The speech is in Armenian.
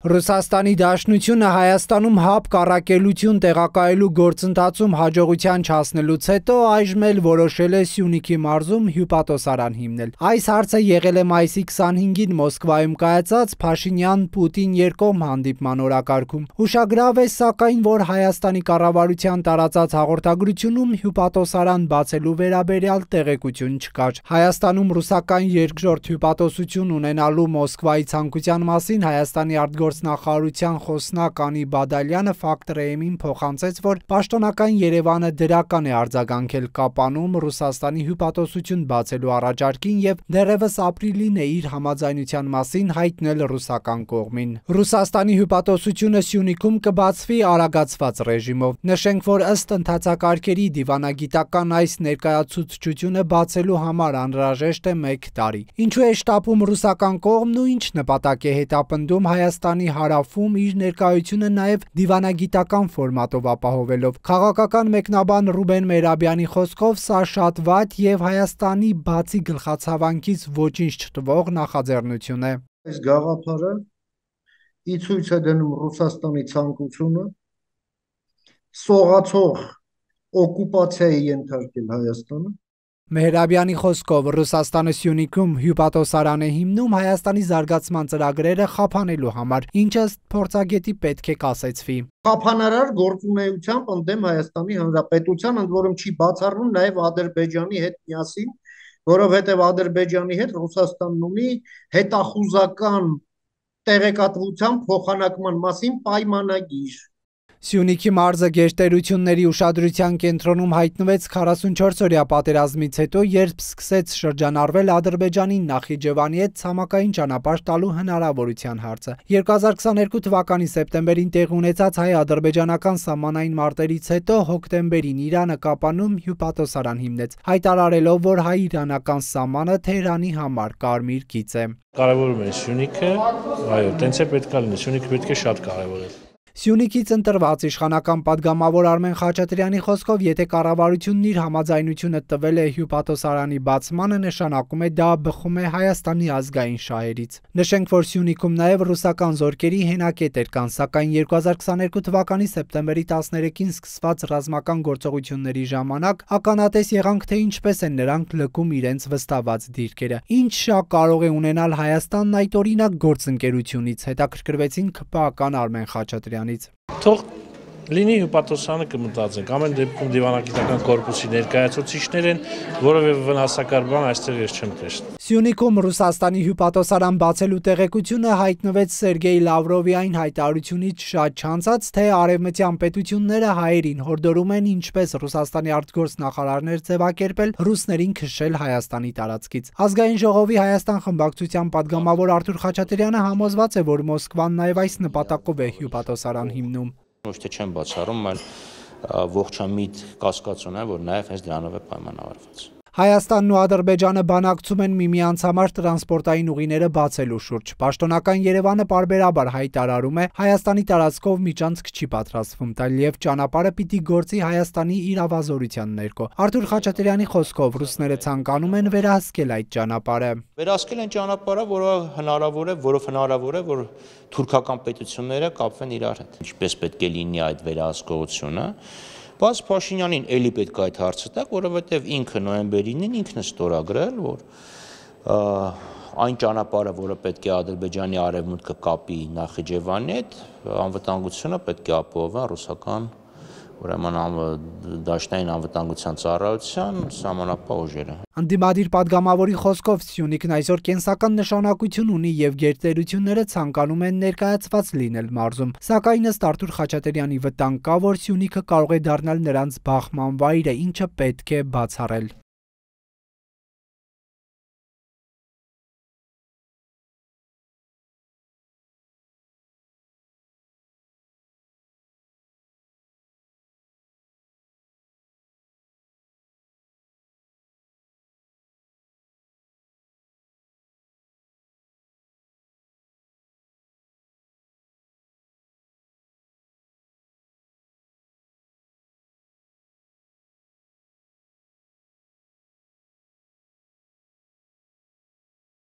Ռուսաստանի Դաշնությունը Հայաստանում հապ կառակելություն տեղակայելու գործընթացում հաջողության չհասնելուց հետո այժմ էլ որոշել է Սյունիքի մարզում հյուպատոսարան հիմնել։ Այս հարցը եղել է մայիսի 25-ին Մոսկվայում կայացած Փաշինյան-Պուտին երկկողմ հանդիպման օրակարգում։ Հուշագրավ է, սակայն, որ Հայաստանի կառավարության տարածած հաղորդագրությունում հյուպատոսարան բացելու վերաբերյալ տեղեկություն չկար։ Հայաստանում ռուսական երկրորդ հյուպատոսություն ունենալու Մոսկվայի ցանկության մասին Հայաստանի արտգործնախարարության խոսնակ Անի Բադալյանը Ֆակտ-Ռեյմին փոխանցեց, որ պաշտոնական Երևանը դրական է արձագանքել Կապանում Ռուսաստանի հյուպատոսություն բացելու առաջարկին եւ դեռևս ապրիլին է իր համաձայնության մասին հայտնել ռուսական կողմին։ Ռուսաստանի հյուպատոսությունը Սյունիքում կբացվի արագացված ռեժիմով։ Նշենք, որ ըստ ընթացակարգերի դիվանագիտական այս ներկայացուցչությունը բացելու համար անհրաժեշտ է 1 տարի։ Ինչու է շտապում ռուսական կողմն ու ինչ նպատակ է հետապնդում Հայաստանի հարավում իր ներկայությունը նաև դիվանագիտական ֆորմատով ապահովելով։ Քաղաքական մեկնաբան Ռուբեն Մերաբյանի խոսքով սա շատ վատ եւ Հայաստանի բացի գլխացավանքից ոչինչ չտվող նախաձեռնություն է։ Այս գաղափարը ի ցույց է դնում Ռուսաստանի ցանկությունը սողացող օկուպացիայի ենթարկել Հայաստանը։ Մեհրաբյանի խոսքով Ռուսաստանը Սյունիքում հյուպատոսարան է հիմնում Հայաստանի զարգացման ծրագրերը խափանելու համար, ինչը փորձագետի պետք է կասեցվի։ Խափանարար գործունեությամբ ընդդեմ Հայաստանի Հանրապետության, ընդ որում չի բացառվում նաև Ադրբեջանի հետ միասին, որովհետև Ադրբեջանի հետ Ռուսաստանն ունի հետախուզական տեղեկատվության փոխանակման մասին պայմանագիր։ Սյունիքի մարզը գերտերությունների ուշադրության կենտրոնում հայտնվեց 44-օրյա պատերազմից հետո, երբ սկսեց շրջանառվել Ադրբեջանի Նախիջևանի հետ ցամաքային ճանապարհ տալու հնարավորության հարցը։ 2022 թվականի սեպտեմբերին տեղի ունեցած հայ-ադրբեջանական սահմանային մարտերից հետո հոկտեմբերին Իրանը Կապանում հյուպատոսարան հիմնեց, հայտարարելով, որ հայ-իրանական սահմանը Թեհրանի համար կարմիր գիծ է։ Կարևորում է Սյունիքը, այո, տենց է պետք է լինի, Սյունիքը պետք է շատ կարևորել։ Սյունիքից ընտրված իշխանական падգամավոր Արմեն Խաչատրյանի խոսքով, եթե կառավարությունն իր համաձայնությունը տվել է հյուպատոսարանի բացմանը, նշանակում է դա բխում է Հայաստանի ազգային շահերից։ Նշենք, որ Սյունիքում նաև ռուսական զորքերի հենակետեր կան, սակայն 2022 թվականի սեպտեմբերի 13-ին սկսված ռազմական գործողությունների ժամանակ ականատես եղանք, թե ինչպես են նրանք լքում իրենց վստահված դիրքերը։ Ինչ շահ կարող է ունենալ Հայաստանն այդ օրինակ գործընկերությունից, հետաքրքրվեցին ՔՊԱ-ական Արմեն Խաչատրյանը։ Թող լինի հյուպատոսարանը կմտածենք, ամեն դեպքում դիվանագիտական կորպուսի ներկայացուցիչներ են, որովհետև վնասակար բան այստեղ ես չեմ տեսնում։ Սյունիքում Ռուսաստանի հյուպատոսարան բացելու տեղեկությունը հայտնվեց Սերգեյ Լավրովի այն հայտարարությունից շատ չանցած, թե արևմտյան պետությունները հայերին հորդորում են ինչպես Ռուսաստանի արտգործնախարարներ ձևակերպել, ռուսներին քշել Հայաստանի տարածքից։ Ազգային ժողովի Հայաստան խմբակցության падգամավոր Արթուր Խաչատրյանը համոզված է, որ Մոսկվան նաև այս նպատակով է հյուպատոսարան հիմնում։ Ոչ թե չեմ բացառում, այլ ողջամիտ կասկածուն է, որ նաև հենց դրանով է պայմանավորված։ Հայաստանն ու Ադրբեջանը բանակցում են միմյանց համար տրանսպորտային ուղիները բացելու շուրջ։ Պաշտոնական Երևանը պարբերաբար հայտարարում է, Հայաստանի տարածքով միջանցք չի պատրաստվում տալ եւ ճանապարհը պիտի գործի Հայաստանի իրավազորության ներքո։ Արթուր Խաչատրյանի խոսքով ռուսները ցանկանում են վերահսկել այդ ճանապարհը։ Վերահսկել են ճանապարհը, որով հնարավոր է, որ թուրքական պետությունները կապվեն իրար հետ։ Ինչպես պետք է լինի այդ վերահսկողությունը։ Բայց Փաշինյանին էլի պետք է այդ հարցը տակ, որովհետև ինքը նոյեմբերին ինքն է ստորագրել, որ այն ճանապարհը, որը պետք է Ադրբեջանի արևմուտքը կապի Նախիջևանի հետ, անվտանգությունը պետք է ապահովեն ռուսական, ուրեմն դաշնային անվտանգության ծառայության սահմանապահ ուժերը։ Անդիմադիր падգամավորի խոսքով Սյունիքն այսօր կենսական նշանակություն ունի եւ գերտերությունները ցանկանում են ներկայացված լինել մարզում։ Սակայն ըստ Արթուր Խաչատրյանի վտանգ կա, որ Սյունիքը կարող է դառնալ նրանց բախման վայրը, ինչը պետք է բացառել։